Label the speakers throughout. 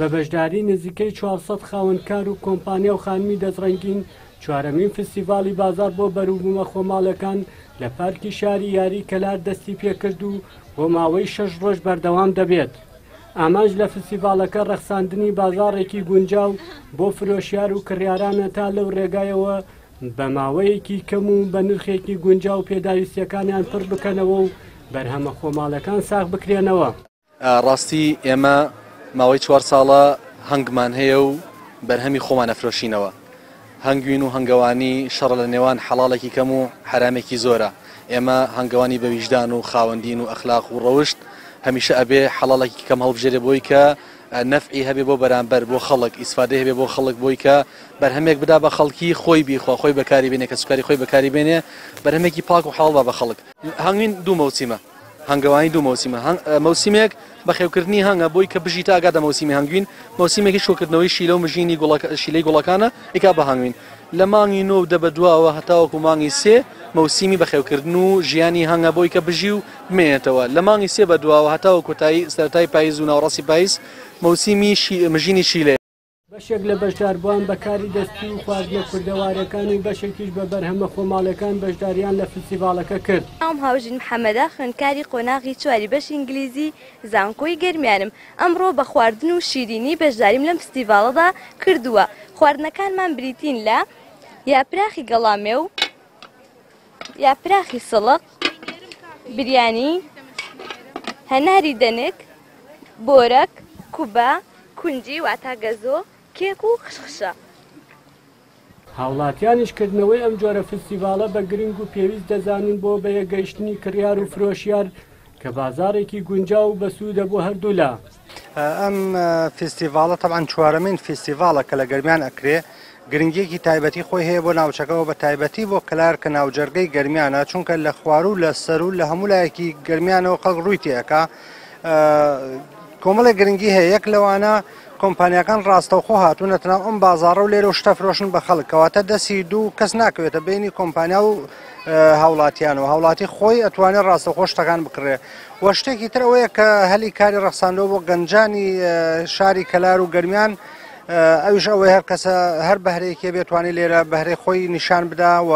Speaker 1: بە بەشداری نزیکەی 400 خاوەنکار و کۆمپانیا و خانمی دەستڕەنگین چوارەمین فستیڤاڵی بازاڕ بۆ بەروبوومە خۆماڵەکان لە پارکی شاری یاری کەلار دەستی پێکرد و بۆ ماوەی 6 ڕۆژ بەردەوام دەبێت. ئامانج لە فستیڤاڵەکە ڕەخساندنی بازاڕێکی گونجاو بۆ فرۆشیار و کڕیارانە تا لەو ڕێگایەوە بە ماوەیەکی کەم و بە نرخێکی گونجاو پێداویستیەکانیان پڕ بکەنەوە و بەرهەمە خۆماڵەکان ساغ بکرێنەوە.
Speaker 2: ڕاستی ئێمە ماوەی 4 ساڵە هەنگمان هەیە و بەرهەمی خۆمان ئەفرۆشینەوە. هەنگوین و هەنگەوانی شەڕە لە نێوان حەڵاڵێکی کەم و حەرامێکی زۆرە. ئێمە هەنگەوانی بە ویژدان و خاوەندین و ئەخلاق و ڕەوشت هەمیشە ئەبێ حەڵاڵێکی کەم هەڵبژێرێ بۆی کە نەفعی هەبێ بۆ بەرامبەر بۆ خەڵک، ئیسفادەی هەبێ بۆ خەڵک بۆی کە بەرهەمێک بدا بە خەڵکی خۆی بیخوا، خۆی بەکاری بێنێ، کەسوکاری خۆی بەکاری بێنێ، بەرهەمێکی پاک و حەڵاڵ با بە خەڵک. هەنگوین دوو مەوسیمە، هەنگەوانی دوو مەوسیمە، مەوسیمێک بەخێوکردنی هەنگە بۆی کە بژی تا ئەگاتە مەوسیمی هەنگوین، مەوسیمێکیش کۆکردنەوەی شیلە و مژینی شیلەی گوڵەکانە ئیکا بە هەنگوین. لە مانگی 9 و 10 بە دواوە هەتاوەکو مانگی 3 مەوسیمی بەخێوکردن و ژیانی هەنگە بۆی کە بژی و بمێنێتەوە. لە مانگی 3 بە دواوە هەتاوە کۆتایی سەرەتای پاییز و ناوەڕاستی پاییز مەوسیمی مژینی شیلەیە.
Speaker 1: بەشێک لە بەشداربووان بە کاری دەستی و خواردنە کوردەوارەکان و بەشێکیش بە بەرهەمە خۆماڵەکان بەشداریان لە فستیڤاڵەکە کرد.
Speaker 3: ناوم هاوژین محەمەدە، خوێندکاری قۆناغی چواری بەشی ئینگلیزی زانکۆی گەرمیانم. ئەمڕۆ بە خواردن و شیرینی بەشداریم لەم فستیڤاڵەدا کردووە. خواردنەکانمان بریتین لە یاپراخی گەڵامێو، یاپراخی سڵق، بریانی، هەناری دەنک، بۆرەک، کوبە، کونجی واتا گەزۆ، کێک و خشخشە.
Speaker 1: هاوڵاتیانیش کردنەوەی ئەم جۆرە فستیڤاڵە بە گرنگ و پێویست دەزانن بۆ بەیەکگەیشتنی کڕیار و فرۆشیار کە بازاڕێکی گونجاو و بەسوودە بۆ هەردوولا.
Speaker 4: ئەم فستیڤاڵە تەبعەن چوارەمین فستیڤاڵە کە لە گەرمیان ئەکرێ، گرنگیەکی تایبەتی خۆی هەیە بۆ ناوچەکەوە بە تایبەتی بۆ کەلار کە ناوجەرگەی گەرمیانە، چونکە لە خواروو لە سەروو لە هەموو لایەکی گەرمیانەوە خەڵک ڕووی تێ ئەکا. کۆمەڵێک گرنگی هەیە، یەک لەوانە کۆمپانیاکان ڕاستەوخۆ هاتوونەتە ناو ئەم بازاڕە و لێرە شتە فرۆشن بە خەڵک، کەواتە دەستی دوو کەس ناکەوێتە بینی کۆمپانیا و هاوڵاتیانەوە، هاوڵاتی خۆی ئەتوانێت ڕاستەوخۆ شتەکان بکڕێ. و شتێکی تر ئەوەیە کە هەلی کاری ڕەخساندەوە بۆ گەنجانی شاری کەلار و گەرمیان، ئەویش ئەوەی هەر کەسە هەر بەهرەیەکی بێتوانێت لێرە بەهرەی خۆی نیشان بدا و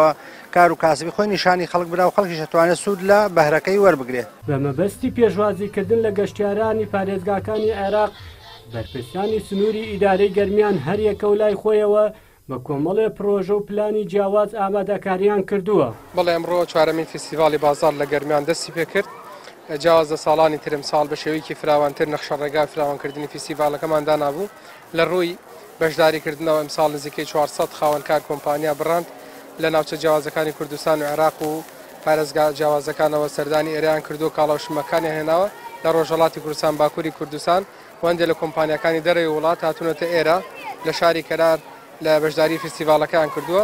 Speaker 4: کار و کاسبی خۆی نیشانی خەڵک بدا و خەڵکیش ئەتوانێت سوود لە بەهرەکەی وەربگرێ.
Speaker 1: بە مەبەستی پێشوازیکردن لە گەشتیارانی پارێزگاکانی عێراق، بەرپرسانی سنووری ئیدارەی گەرمیان هەریەکە و لای خۆیەوە بە کۆمەڵێ پرۆژە و پلانی جیاواز ئامادەکاریان کردووە.
Speaker 5: بەڵێ، ئەمڕۆ چوارەمین فیستیڤاڵی بازاڕ لە گەرمیان دەستی پێکرد. جیاواز لە ساڵانی تر ئەمساڵ بە شێوەیەکی فراوانتر نەخشە ڕێگای فراوانکردنی فیستیڤاڵەکەمان دانابوو. لە ڕووی بەشداریکردنەوە ئەمساڵ نزیکەی 400 خاوەنکار کۆمپانیا بڕاند لە ناوچە جیاوازەکانی کوردستان و عێراق و پارێزگا جیاوازەکانەوە سەردانی ئێرەیان کردووە، کاڵا و شمەکانیان هێناوە لە ڕۆژهەڵاتی کوردستان، باکووری کوردستان و هەندێک لە کۆمپانیاکانی دەرەوەی وڵات هاتوونەتە ئێرە لە شاری کەلار لە بەشداری فستیڤاڵەکەیان کردووە.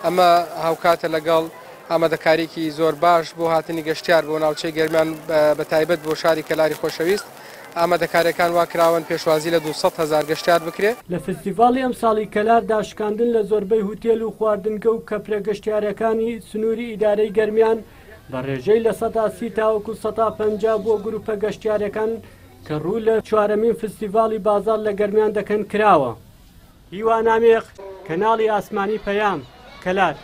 Speaker 5: ئەمە هاوکاتە لەگەڵ ئامادەکاریکی زۆر باش بۆ هاتنی گەشتیار بۆ ناوچەی گەرمیان بە تایبەت بۆ شاری کەلاری خۆشەویست. ئامادەکاریەکان وا کراون پێشوازی لە 200,000 گەشتیار بکرێ.
Speaker 1: لە فستیڤاڵی ئەمساڵی کەلاردا شکاندن لە زۆربەی هوتێل و خواردنگە و کەپرە گەشتیارەکانی سنووری ئیدارەی گەرمیان بە ڕێژەی 30% تاوەکو 50% بۆ گروپە گەشتیارەکان کە ڕوو لە چوارەمین فستیڤاڵی بازاڕ لە گەرمیان دەکەن کراوە. هیوا نامێق، کەناڵی ئاسمانی پەیام، کەلار.